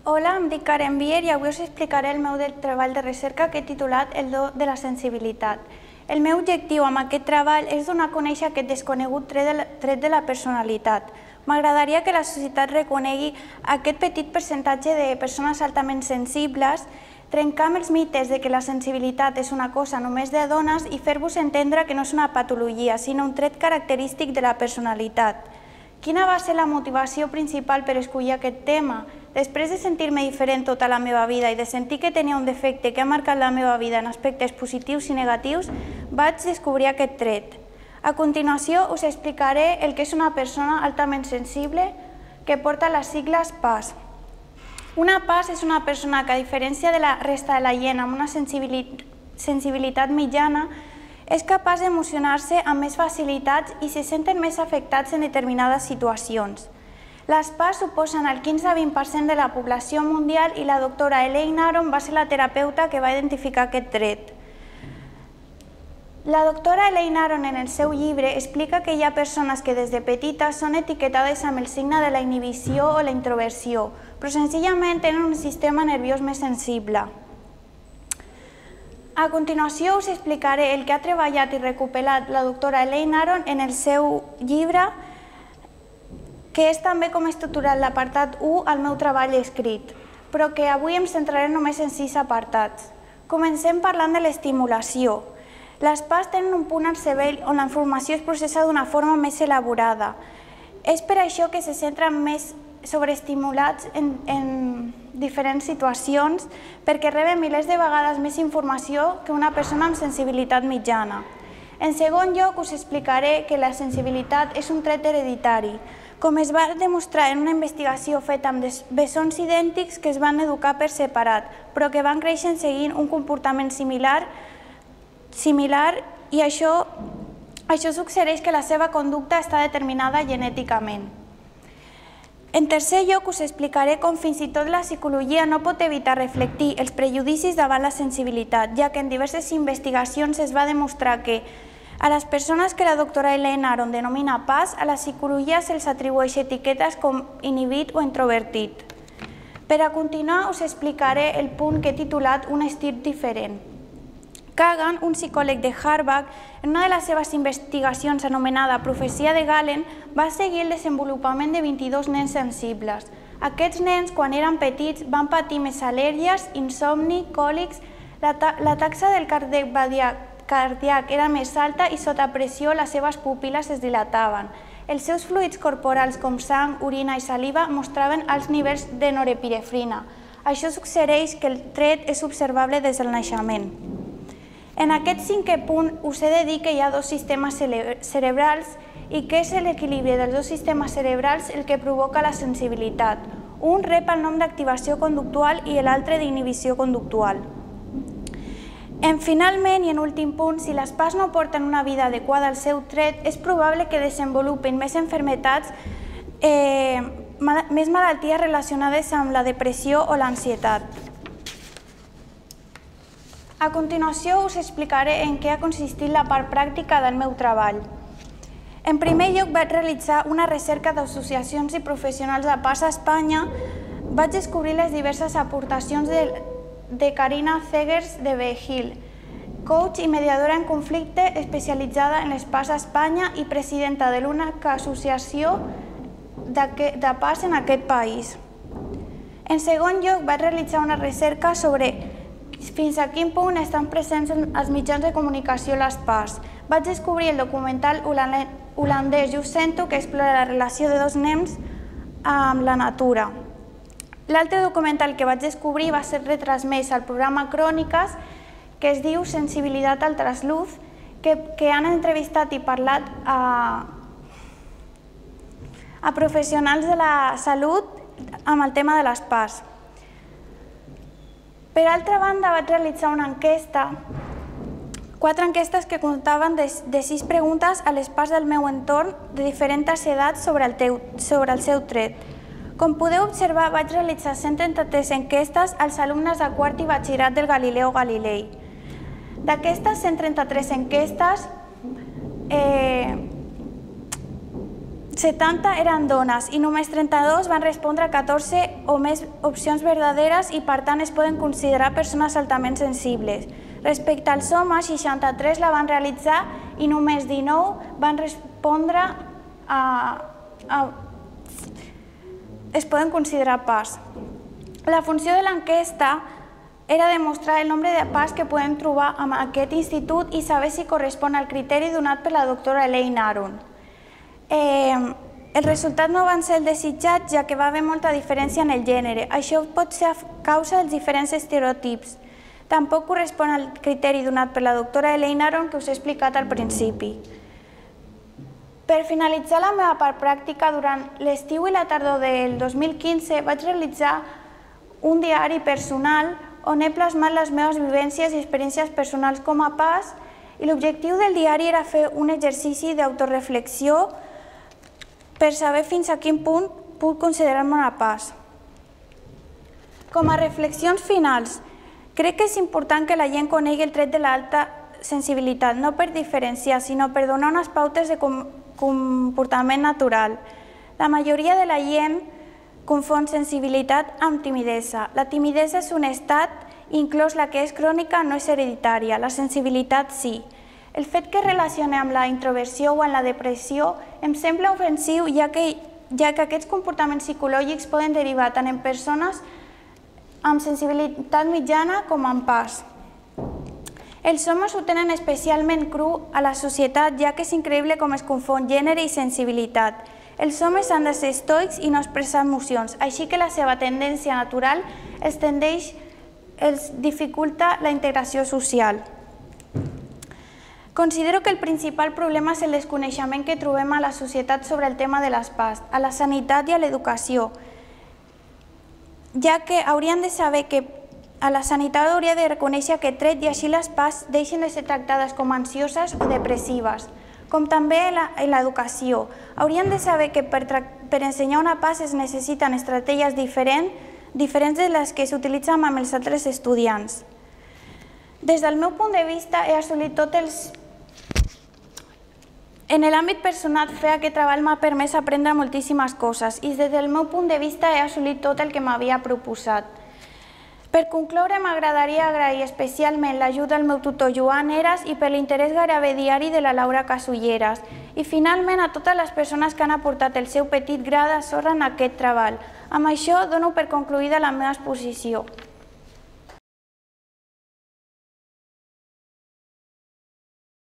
Hola, em dic Karen Bier i avui us explicaré el meu treball de recerca que he titulat El do de la sensibilitat. El meu objectiu amb aquest treball és donar a conèixer aquest desconegut tret de la personalitat. M'agradaria que la societat reconegui aquest petit percentatge de persones altament sensibles, trencar amb els mites de que la sensibilitat és una cosa només de dones i fer-vos entendre que no és una patologia, sinó un tret característic de la personalitat. Quina va ser la motivació principal per escollir aquest tema? Després de sentir-me diferent tota la meva vida i de sentir que tenia un defecte que ha marcat la meva vida en aspectes positius i negatius, vaig descobrir aquest tret. A continuació us explicaré el que és una persona altament sensible que porta les sigles PAS. Una PAS és una persona que, a diferència de la resta de la gent amb una sensibilitat mitjana, és capaç d'emocionar-se amb més facilitats i se senten més afectats en determinades situacions. Les PAS suposen el 15-20% de la població mundial i la doctora Elaine Aron va ser la terapeuta que va identificar aquest tret. La doctora Elaine Aron en el seu llibre explica que hi ha persones que des de petites són etiquetades amb el signe de la inhibició o la introversió, però senzillament tenen un sistema nerviós més sensible. A continuació us explicaré el que ha treballat i recopilat la doctora Elaine Aron en el seu llibre, que és també com he estructurat l'apartat 1 al meu treball escrit, però que avui em centraré només en 6 apartats. Comencem parlant de l'estimulació. Les PAS tenen un punt al cervell on la informació es processa d'una forma més elaborada. És per això que se centren més sobreestimulats en diferents situacions perquè reben milers de vegades més informació que una persona amb sensibilitat mitjana. En segon lloc, us explicaré que la sensibilitat és un tret hereditari, com es va demostrar en una investigació feta amb bessons idèntics que es van educar per separat, però que van créixer seguint un comportament similar i això suggereix que la seva conducta està determinada genèticament. En tercer lloc, us explicaré com fins i tot la psicologia no pot evitar reflectir els prejudicis davant la sensibilitat, ja que en diverses investigacions es va demostrar que a les persones que la doctora Elaine Aron denomina PAS, a la psicologia se'ls atribueix etiquetes com inhibit o introvertit. Per a continuar, us explicaré el punt que he titulat Un estil diferent. Kagan, un psicòleg de Harvard, en una de les seves investigacions anomenada Profecia de Galen, va seguir el desenvolupament de 22 nens sensibles. Aquests nens, quan eren petits, van patir més al·lèrgies, insomni, còlics, la taxa del cardíac era més alta i sota pressió les seves pupil·les es dilataven. Els seus fluids corporals com sang, orina i saliva mostraven alts nivells de norepinefrina. Això suggereix que el tret és observable des del naixement. En aquest cinquè punt us he de dir que hi ha dos sistemes cerebrals i que és l'equilibri dels dos sistemes cerebrals el que provoca la sensibilitat. Un rep el nom d'activació conductual i l'altre d'inhibició conductual. Finalment, i en últim punt, si les PAS no porten una vida adequada al seu tret, és probable que desenvolupin més malalties relacionades amb la depressió o l'ansietat. A continuació us explicaré en què ha consistit la part pràctica del meu treball. En primer lloc vaig realitzar una recerca d'associacions i professionals de PAS a Espanya. Vaig descobrir les diverses aportacions de Karina Zegers de Behil, coach i mediadora en conflicte especialitzada en les PAS a Espanya i presidenta de l'única associació de PAS en aquest país. En segon lloc vaig realitzar una recerca sobre fins a quin punt estan presents els mitjans de comunicació les PAS. Vaig descobrir el documental holandès Jo Sento, que explora la relació de dos nens amb la natura. L'altre documental que vaig descobrir va ser retransmès al programa Cròniques, que es diu Sensibilitat al trasluz, que han entrevistat i parlat a professionals de la salut amb el tema de les PAS. Per altra banda, vaig realitzar una enquesta, 4 enquestes que contaven de 6 preguntes a les PAS del meu entorn de diferents edats sobre el seu tret. Com podeu observar, vaig realitzar 133 enquestes als alumnes de quart i batxillerat del Galileo Galilei. D'aquestes 133 enquestes, 70 eren dones i només 32 van respondre a 14 o més opcions verdaderes i, per tant, es poden considerar persones altament sensibles. Respecte als homes, 63 la van realitzar i només 19 van respondre es poden considerar pas. La funció de l'enquesta era demostrar el nombre de pas que podem trobar en aquest institut i saber si correspon al criteri donat per la doctora Elaine Aron. El resultat no van ser el desitjat, ja que va haver molta diferència en el gènere. Això pot ser a causa dels diferents estereotips. Tampoc correspon al criteri donat per la doctora Elaine Aron que us he explicat al principi. Per finalitzar la meva part pràctica, durant l'estiu i la tardor del 2015 vaig realitzar un diari personal on he plasmat les meves vivències i experiències personals com a pas, i l'objectiu del diari era fer un exercici d'autoreflexió per saber fins a quin punt puc considerar-me una pas. Com a reflexions finals, crec que és important que la gent conegui el tret de l'alta sensibilitat, no per diferenciar, sinó per donar unes pautes de comportament natural. La majoria de la gent confon sensibilitat amb timidesa. La timidesa és un estat, inclòs la que és crònica, no és hereditària. La sensibilitat sí. El fet que es relacioni amb la introversió o amb la depressió em sembla ofensiu, ja que aquests comportaments psicològics poden derivar tant en persones amb sensibilitat mitjana com amb pas. Els homes ho tenen especialment cru a la societat, ja que és increïble com es confon gènere i sensibilitat. Els homes han de ser estoics i no expressar emocions, així que la seva tendència natural els dificulta la integració social. Considero que el principal problema és el desconeixement que trobem a la societat sobre el tema de les PAS, a la sanitat i a l'educació, ja que haurien de saber que a la sanitat hauria de reconèixer aquest tret i així les PAS deixen de ser tractades com ansioses o depressives, com també en l'educació. Haurien de saber que per ensenyar una PAS es necessiten estratègies diferents de les que s'utilitzen amb els altres estudiants. Des del meu punt de vista, he assolit tots els... En l'àmbit personal, fer aquest treball m'ha permès aprendre moltíssimes coses i des del meu punt de vista he assolit tot el que m'havia proposat. Per concloure, m'agradaria agrair especialment l'ajuda del meu tutor Joan Eras i per l'interès gairebé diari de la Laura Casulleras i finalment a totes les persones que han aportat el seu petit gra de sorra en aquest treball. Amb això dono per concluïda la meva exposició.